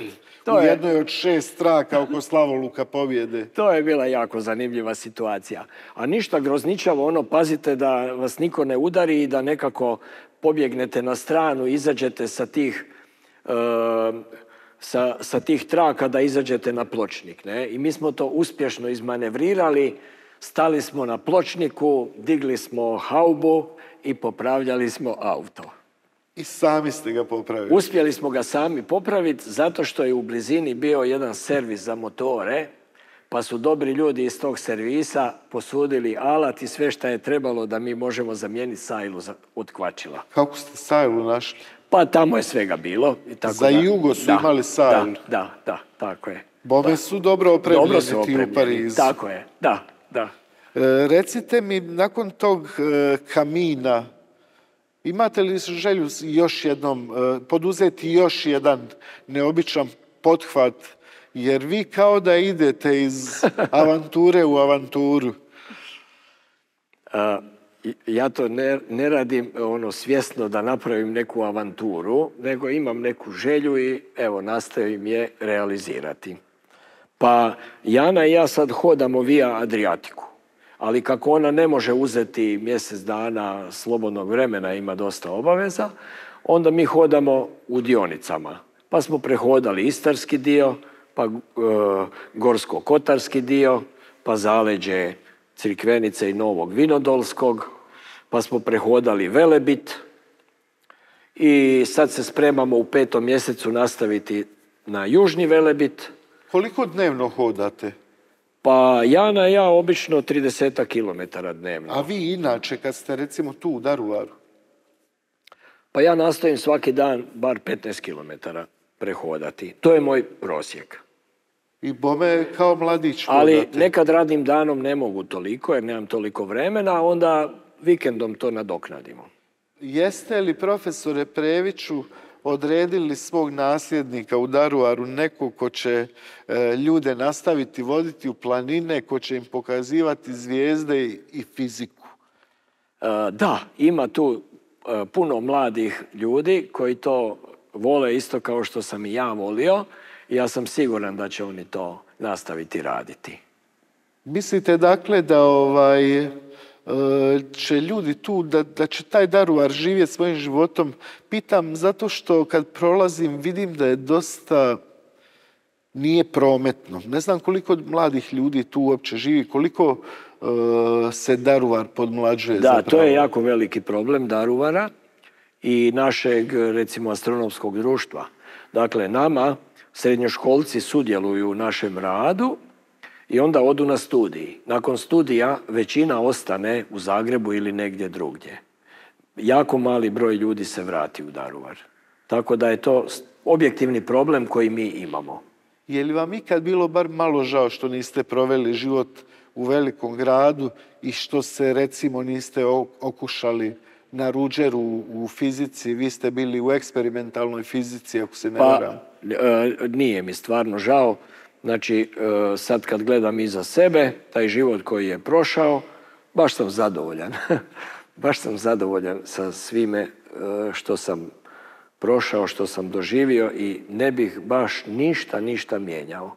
u jednoj od 6 traka oko Slavoluka Pobjede? To je bila jako zanimljiva situacija. A ništa grozničavo, pazite da vas niko ne udari i da nekako pobjegnete na stranu, izađete sa tih traka da izađete na pločnik. Ne? I mi smo to uspješno izmanevrirali, stali smo na pločniku, digli smo haubu i popravljali smo auto. I sami ste ga popravili? Uspjeli smo ga sami popraviti zato što je u blizini bio jedan servis za motore, pa su dobri ljudi iz tog servisa posudili alat i sve što je trebalo da mi možemo zamijeniti sajlu od kvačila. Kako ste sajlu našli? Pa tamo je svega bilo. I tako za jugo su imali sajlu? Da, tako je. Bome su dobro opremljeni ti u Parizu. Tako je, da. Recite mi, nakon tog kamina, imate li želju još jednom poduzeti još jedan neobičan pothvat, jer vi kao da idete iz avanture u avanturu? Ja to ne radim svjesno da napravim neku avanturu, nego imam neku želju i evo nastojim je realizirati. Pa Jana i ja sad hodamo via Adriatiku. Ali kako ona ne može uzeti mjesec dana slobodnog vremena, ima dosta obaveza, onda mi hodamo u dionicama. Pa smo prehodali istarski dio, pa gorsko-kotarski dio, pa zaleđe Crikvenice i Novog Vinodolskog, pa smo prehodali Velebit i sad se spremamo u 5. mjesecu nastaviti na južni Velebit. Koliko dnevno hodate? Pa Jana i ja obično 30 kilometara dnevno. A vi inače, kad ste recimo tu u Daruvaru? Pa ja nastojim svaki dan bar 15 kilometara prehodati. To je moj prosjek. I bome kao mladić hodate? Ali nekad radnim danom ne mogu toliko jer nemam toliko vremena, onda vikendom to nadoknadimo. Jeste li, profesore Previću, odredili svog nasljednika u Daruvaru, nekog ko će ljude nastaviti voditi u planine, ko će im pokazivati zvijezde i fiziku? Da, ima tu puno mladih ljudi koji to vole isto kao što sam i ja volio i ja sam siguran da će oni to nastaviti raditi. Mislite dakle da će ljudi tu, da će taj Daruvar živjeti svojim životom? Pitam zato što kad prolazim vidim da je dosta nije prometno. Ne znam koliko mladih ljudi tu uopće živi, koliko se Daruvar podmlađuje. Da, to je jako veliki problem Daruvara i našeg, recimo, astronomskog društva. Dakle, nama srednjoškolci sudjeluju u našem radu i onda odu na studij. Nakon studija većina ostane u Zagrebu ili negdje drugdje. Jako mali broj ljudi se vrati u Daruvar. Tako da je to objektivni problem koji mi imamo. Je li vam ikad bilo bar malo žao što niste proveli život u velikom gradu i što se, recimo, niste okušali na Ruđeru u fizici? Vi ste bili u eksperimentalnoj fizici, ako se ne varam. Nije mi stvarno žao. Znači, sad kad gledam iza sebe, taj život koji je prošao, baš sam zadovoljan. Baš sam zadovoljan sa svime što sam prošao, što sam doživio i ne bih baš ništa mijenjao.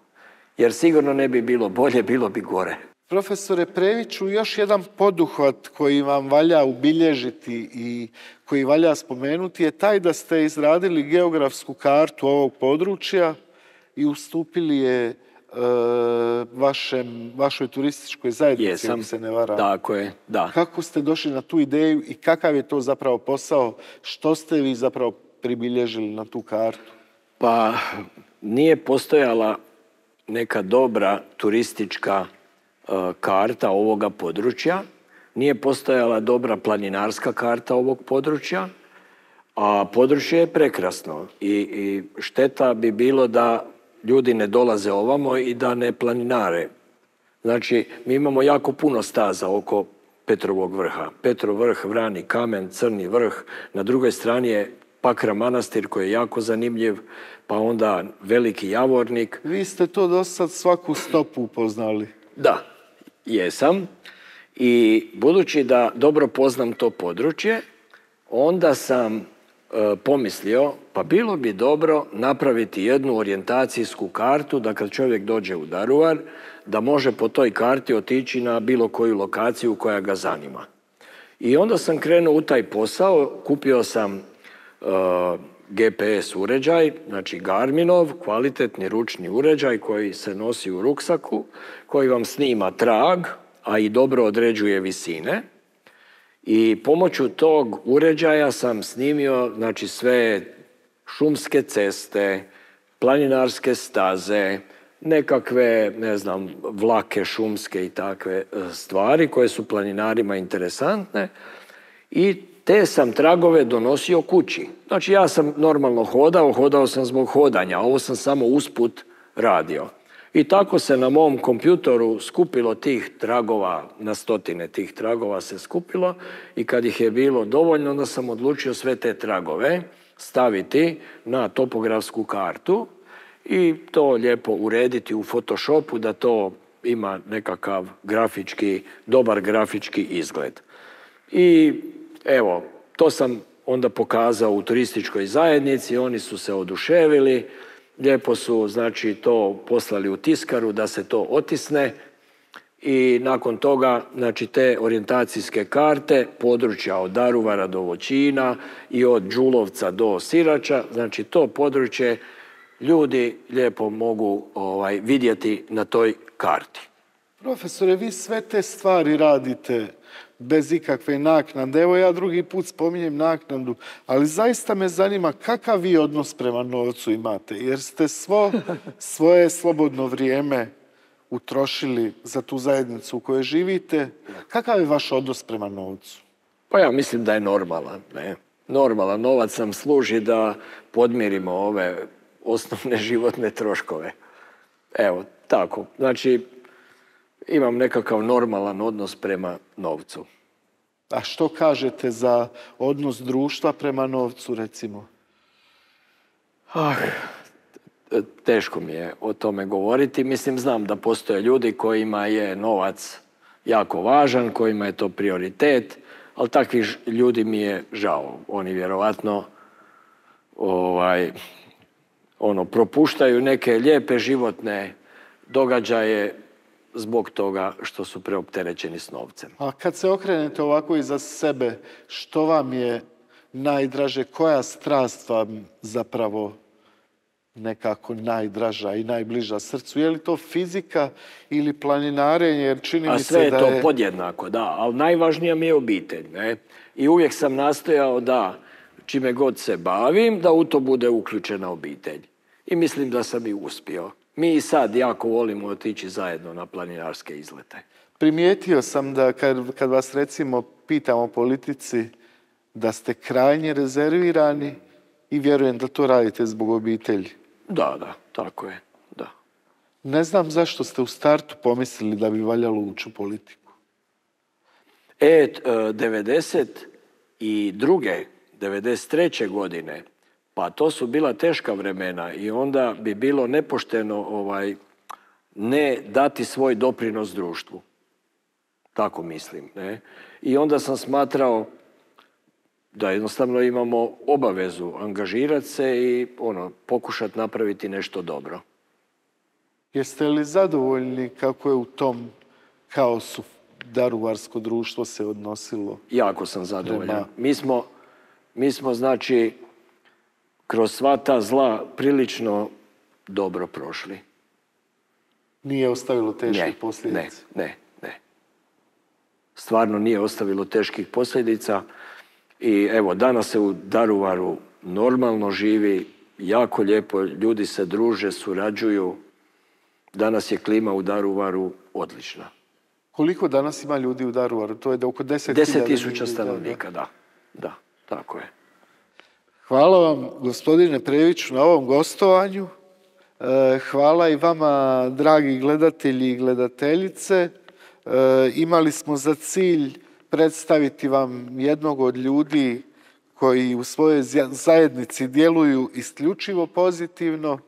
Jer sigurno ne bi bilo bolje, bilo bi gore. Profesore Previću, još jedan poduhvat koji vam valja ubilježiti i koji valja spomenuti je taj da ste izradili geografsku kartu ovog područja i ustupili je vašoj turističkoj zajednici, ako se ne varam. Tako je, da. Kako ste došli na tu ideju i kakav je to zapravo posao? Što ste vi zapravo pribilježili na tu kartu? Pa nije postojala neka dobra turistička karta ovoga područja, nije postojala dobra planinarska karta ovog područja, a područje je prekrasno i šteta bi bilo da ljudi ne dolaze ovamo i da ne planinare. Znači, mi imamo jako puno staza oko Petrovog vrha. Petrov vrh, Vrani kamen, Crni vrh, na drugoj strani je Pakra manastir koji je jako zanimljiv, pa onda Veliki Javornik. Vi ste to do sad svaku stopu upoznali. Da, jesam. I budući da dobro poznam to područje, onda sam pomislio, pa bilo bi dobro napraviti jednu orijentacijsku kartu da kad čovjek dođe u Daruvar, da može po toj karti otići na bilo koju lokaciju koja ga zanima. I onda sam krenuo u taj posao, kupio sam GPS uređaj, znači Garminov, kvalitetni ručni uređaj koji se nosi u ruksaku, koji vam snima trag, a i dobro određuje visine. I pomoću tog uređaja sam snimio, znači, sve šumske ceste, planinarske staze, nekakve, ne znam, vlake šumske i takve stvari koje su planinarima interesantne. I te sam tragove donosio kući. Znači, ja sam normalno hodao sam zbog hodanja, ovo sam samo usput radio. I tako se na mom kompjutoru skupilo tih tragova, na stotine tih tragova se skupilo i kad ih je bilo dovoljno, onda sam odlučio sve te tragove staviti na topografsku kartu i to lijepo urediti u Photoshopu da to ima nekakav dobar grafički izgled. I evo, to sam onda pokazao u turističkoj zajednici, oni su se oduševili, lijepo su, znači, to poslali u tiskaru da se to otisne i nakon toga, znači, te orijentacijske karte, područja od Daruvara do Voćina i od Đulovca do Sirača, znači to područje ljudi lijepo mogu vidjeti na toj karti. Profesore, vi sve te stvari radite bez ikakve naknade. Evo ja drugi put spominjem naknadu, ali zaista me zanima kakav vi odnos prema novcu imate, jer ste svoje slobodno vrijeme utrošili za tu zajednicu u kojoj živite. Kakav je vaš odnos prema novcu? Pa ja mislim da je normalan. Normalan novac nam služi da podmirimo ove osnovne životne troškove. Evo, tako. Znači, imam nekakav normalan odnos prema novcu. A što kažete za odnos društva prema novcu, recimo? Teško mi je o tome govoriti. Mislim, znam da postoje ljudi kojima je novac jako važan, kojima je to prioritet, ali takvih ljudi mi je žao. Oni vjerovatno propuštaju neke lijepe životne događaje zbog toga što su preopterećeni s novcem. A kad se okrenete ovako iza sebe, što vam je najdraže, koja strast vam zapravo nekako najdraža i najbliža srcu? Je li to fizika ili planinarenje? Jer čini mi se sve je to podjednako, da. Ali najvažnija mi je obitelj. I uvijek sam nastojao da, čime god se bavim, da u to bude uključena obitelj. I mislim da sam i uspio. Mi i sad jako volimo otići zajedno na planinarske izlete. Primijetio sam da kad vas recimo pitam o politici, da ste krajnje rezervirani i vjerujem da to radite zbog obitelji. Da, tako je, da. Ne znam zašto ste u startu pomislili da bi valjalo ući u politiku. 92. 93. godine, pa to su bila teška vremena i onda bi bilo nepošteno ne dati svoj doprinos društvu. Tako mislim. I onda sam smatrao da jednostavno imamo obavezu angažirati se i pokušati napraviti nešto dobro. Jeste li zadovoljni kako je u tom kaosu daruvarsko društvo se odnosilo? Jako sam zadovoljan. Mi smo, znači, kroz sva ta zla prilično dobro prošli. Nije ostavilo teških posljedica? Ne. Stvarno nije ostavilo teških posljedica. I evo, danas se u Daruvaru normalno živi, jako lijepo, ljudi se druže, surađuju. Danas je klima u Daruvaru odlična. Koliko danas ima ljudi u Daruvaru? To je da oko 10.000 10.000 stanovnika, da, tako je. Hvala vam, gospodine Previću, na ovom gostovanju. Hvala i vama, dragi gledatelji i gledateljice. Imali smo za cilj predstaviti vam jednog od ljudi koji u svojoj zajednici djeluju isključivo pozitivno.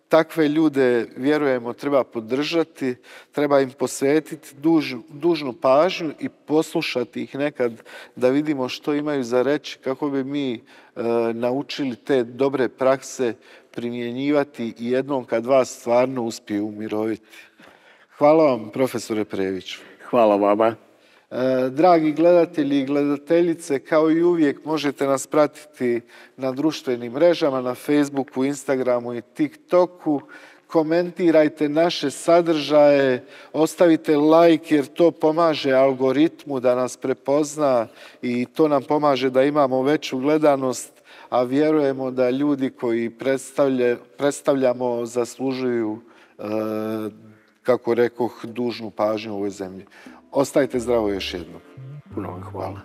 Takve ljude, vjerujemo, treba podržati, treba im posvetiti dužnu pažnju i poslušati ih nekad da vidimo što imaju za reći, kako bi mi naučili te dobre prakse primjenjivati i jednom kad vas stvarno uspiju umiroviti. Hvala vam, profesore Previću. Hvala vama. Dragi gledatelji i gledateljice, kao i uvijek možete nas pratiti na društvenim mrežama, na Facebooku, Instagramu i TikToku. Komentirajte naše sadržaje, ostavite like jer to pomaže algoritmu da nas prepozna i to nam pomaže da imamo veću gledanost, a vjerujemo da ljudi koji predstavljamo zaslužuju, kako rekoh, dužnu pažnju u ovoj zemlji. Ostajte zdravo još jednom. Puno vam hvala.